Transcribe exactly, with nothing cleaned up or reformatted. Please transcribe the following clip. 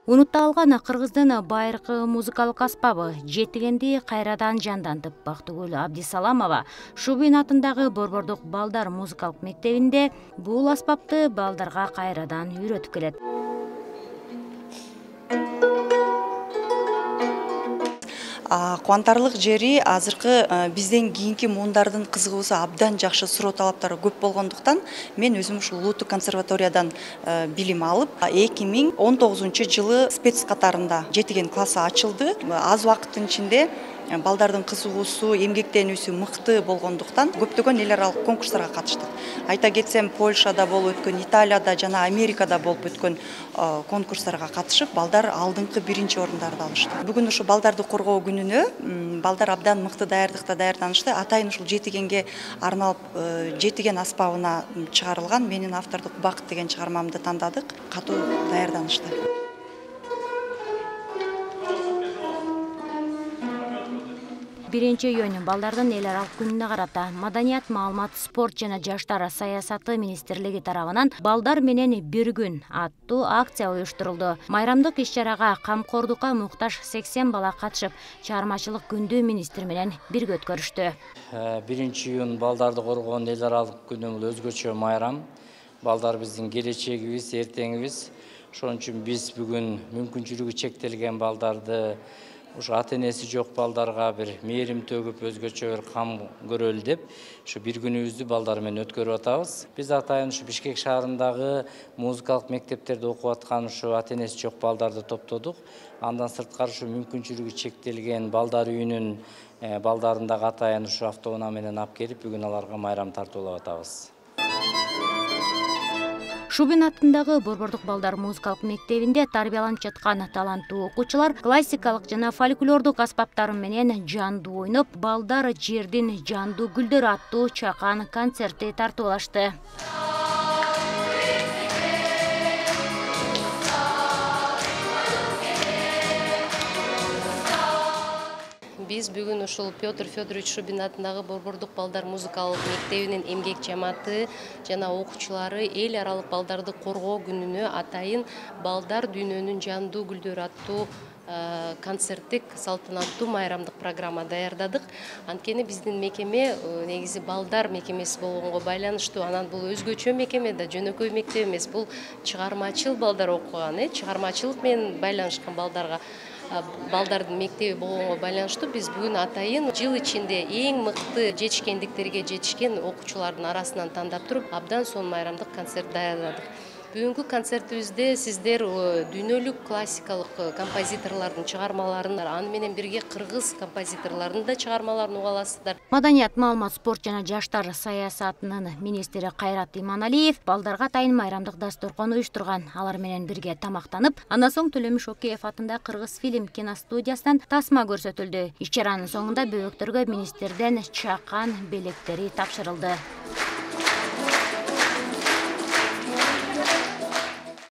Унутталган кыргыздын байыркы музыкалык аспабы жетигенди кайрадан жандантып Бактыгүл Абдисаламова Шубин атындагы Борбордук балдар музыкалык мектебинде бул аспапты балдарга кайрадан үйрөтүп келет. Кубантарлык жери азыркы бизден кийинки муундардын кызыгуусу абдан жакшы, суроо талаптары көп болгондуктан мен өзүм ушул улуттук консерваториядан билим алып, эки миң он тогузунчу жылы спец катарында жетиген классы ачылды. Аз убакыттын ичинде балдардын кызыгуусу, эмгектенүүсү мыкты болгондуктан көптөгөн эл аралык конкурстарга катыштык. Айта кетсем, Польшада болуп өткөн, Италияда жана Америкада болуп өткөн конкурстарга катышып, балдар алдыңкы биринчи орундарды алышты. Бүгүн ушу балдарды коргоо күнүнө балдар абдан мыкты даярдыкта даярданышты. Атайын ушул жетигенге арналып жетиген аспабына чыгарылган менин автордук Бакыт деген чыгармамды тандадык. Катуу даярданышты. Биринчи июнь балдардын эл аралык күнүнө карата Маданият, маалымат, спорт жана жаштар саясаты министрлиги тарабынан балдар менен бир күн аттуу акция уюштурулду. Майрамдык иш-чарага камкордукка муктаж сексен бала катышып, чыгармачылык күндү министр менен бирге өткөрүштү. биринчи июнь балдарды коргоон эл аралык күнү бул өзгөчө майрам. Балдар биздин келечегибиз, эртеңибиз. Ошон үчүн биз бүгүн мүмкүнчүлүгү чектелген балдарды, ушу ата энеси жок балдарга бир мээрим төгүп, өзгөчө бир кам көрөлү деп, ушу бир күнүбүздү балдар менен өткөрүп атабыз. Биз атайын ушу Бишкек шаарындагы музыкалык мектептерде окуп аткан ушу ата энеси жок балдарды топтодук. Андан сырткары ушу мүмкүнчүлүгү чектелген балдар үйүнүн балдарын дагы атайын ушу автоунаа менен алып келип, бүгүн аларга майрам тартуулап атабыз. Шубин атындагы Борбордук балдар музыкалык мектебинде тарбияланып жаткан таланттуу окуучулар классикалык жана фольклордук аспаптар менен жандуу ойноп, балдар жердин жандуу гүлдөрү аттуу чакан концерти тартуулашты. Биз бүгүн ушул Петр Федорович Шубин атындагы Борбордук балдар музыкалык мектебинин эмгек жамааты жана окуучулары эл аралык балдарды коргоо күнүнө атайын балдар дүйнөнүн жандуу гүлдөрү аттуу концерттик салтанаттуу майрамдык программа даярдадык. Анткени биздин мекеме негизи балдар мекемеси болгонго байланыштуу. Анан бул өзгөчө мекеме да, жөнөкөй мектеп эмес. Бул чыгармачыл балдар окуган, э, чыгармачылык менен байланышкан балдарга балдардын мектеби болгонго байланыштуу биз бүгүн атайын жыл ичинде эң мыкты жетишкендиктерге жетишкен окуучулардын арасынан тандап туруп, абдан сонун майрамдык концерт даярдадык. Бүгүнкү концертибизде сиздер дүйнөлүк классикалык композиторлордун чыгармаларын, аны менен бирге кыргыз композиторлорунун да чыгармаларын уга аласыздар. Маданият, маалымат, спорт жана жаштар саясатынын министри Кайрат Иманалиев балдарга атайын майрамдык дасторкон уюштурган. Алар менен бирге тамактанып, андан соң Төлөмүш Океев атындагы Кыргыз фильм киностудиясынан тасма көрсөтүлдү. Иш-чаранын соңунда бөбөктөргө министрден чакан белектери тапшырылды.